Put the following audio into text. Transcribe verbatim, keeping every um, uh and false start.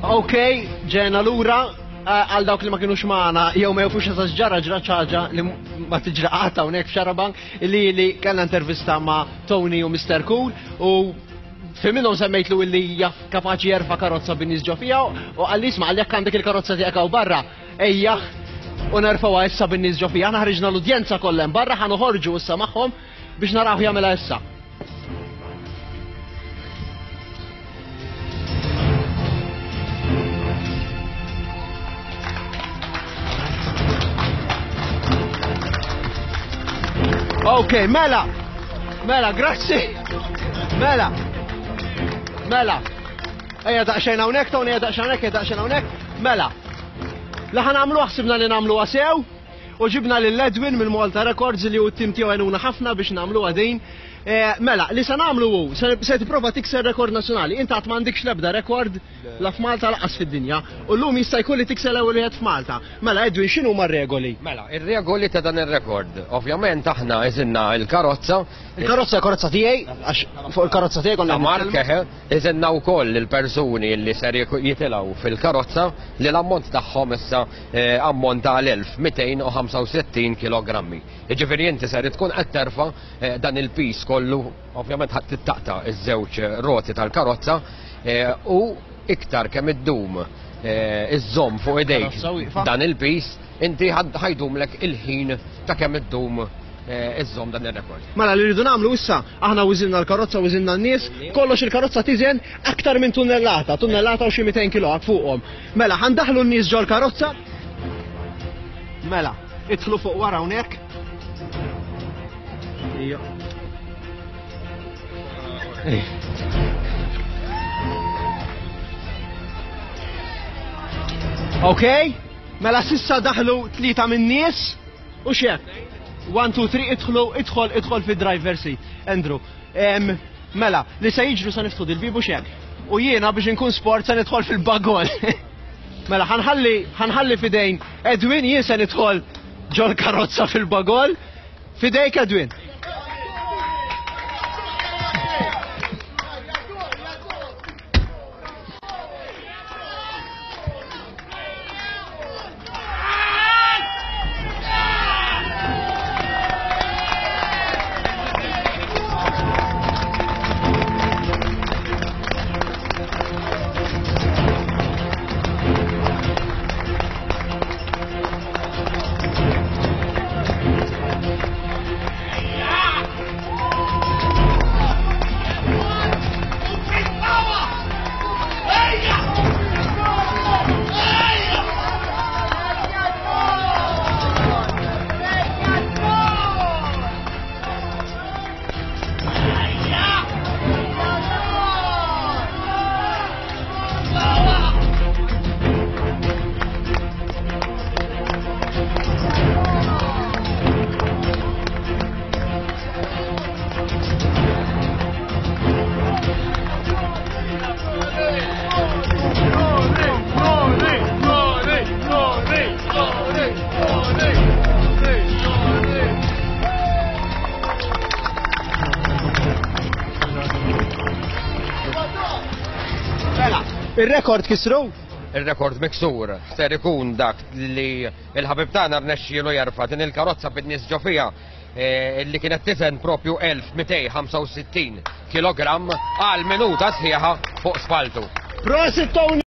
Ok, ġejna lura eh, għal dawk li ma kienux magħna jew ma jafux eżatt ġara ġra ħaġa li ma tiġra qatt hawnhekk f'Xarabank li li kellna intervista ma' Tony u Mister Cool u fi minnhom semmejtlu illi jaf kapaċi jerfa' karozza bin-nies ġo fiha u qalli isma' qalli jekk għandek il-karozza tiegħek hawn barra ejja u nerfgħuha issa bin-nies ġo fiha. Aħna ħriġna l-udjenza kollha hemm barra, ħa noħorġu issa magħhom biex naraw jagħmilha issa. Ok, mela, mela, grazzi. Mela, mela. Ejja daqsxejn hawnhekk, Tony, ejja daqsxejn hawnhekk, ejja daqsxejn hawnhekk. Mela. La ħa nagħmlu ħsibna li nagħmlu sew u ġibna lil Edwin mill-Malta Records li hu t-tim tiegħu għenuna ħafna biex nagħmlu din. Eh, mela, li se nagħmlu hu, se se tipprova tikser rekord nazzjonali. Inti qatt m'għandekx l-ebda rekord la f'Malta lanqas fid-dinja. U llum jista' jkun li tikser l-ewwel wieħed f'Malta. Mela, Edwin, x'inhu ma regoli? Mela, ir-regoli ta' dan ir-rekord. Ovvjament aħna iżinna il-karozza. Il-karozza karozza tiegħi, għax fuq il-karozza tiegħi konna Ta' Mark, eħe, iżinna wkoll il-persuni li ser jitilgħu fil-karozza li l-ammont tagħhom issa eh, ammonta għal elf u mitejn u ħamsa u sittin kilogrammi. Jiġifieri inti ser tkun qed terfa' eh, dan il-pis kollu, ovvjament ħadd tittaqta' iż-żewġ roti tal-karozza eh, u iktar kemm iddum eh, iżżomm fuq idejk Karozza wieqfa. Dan il-pis, inti ħad- ħajdumlek il-ħin ta' kemm iddum eh, iżżomm dan ir-rekord. Mela li rridu nagħmlu issa, aħna wiżinna l-karozza, wiżinna n-nies, kollox il-karozza tiżen aktar minn tunnellata, tunnellata u xi mitejn kilo fuqhom. Mela, ħa ndaħħlu n-nies ġol karozza. Mela, idħlu fuq wara hawnhekk. Ija. Ej. Ok, mela s'issa daħlu tlieta min-nies u xek. One, two, three, idħlu, idħol, idħol fi driver seat. Andrew, em, mela, li se jiġru sa niftħu dil-bieb u xek. U jiena biex inkun sport se nidħol fil-bagol. Mela, ħa nħalli, ħa nħalli f'idejn Edwin, jien se nidħol ġol karozza fil-bagol. F'idejk, Edwin. Mela, il-rekord kisru? Il-rekord miksur ser ikun dak li il-ħabib tagħna rnexxielu jerfa' din il-karozza bid-nies ġo fiha eh, li kienet tiżen propju elf u mitejn u ħamsa u sittin kilogramm għal minuta sħiħa fuq spaltu. Prosit, Tony!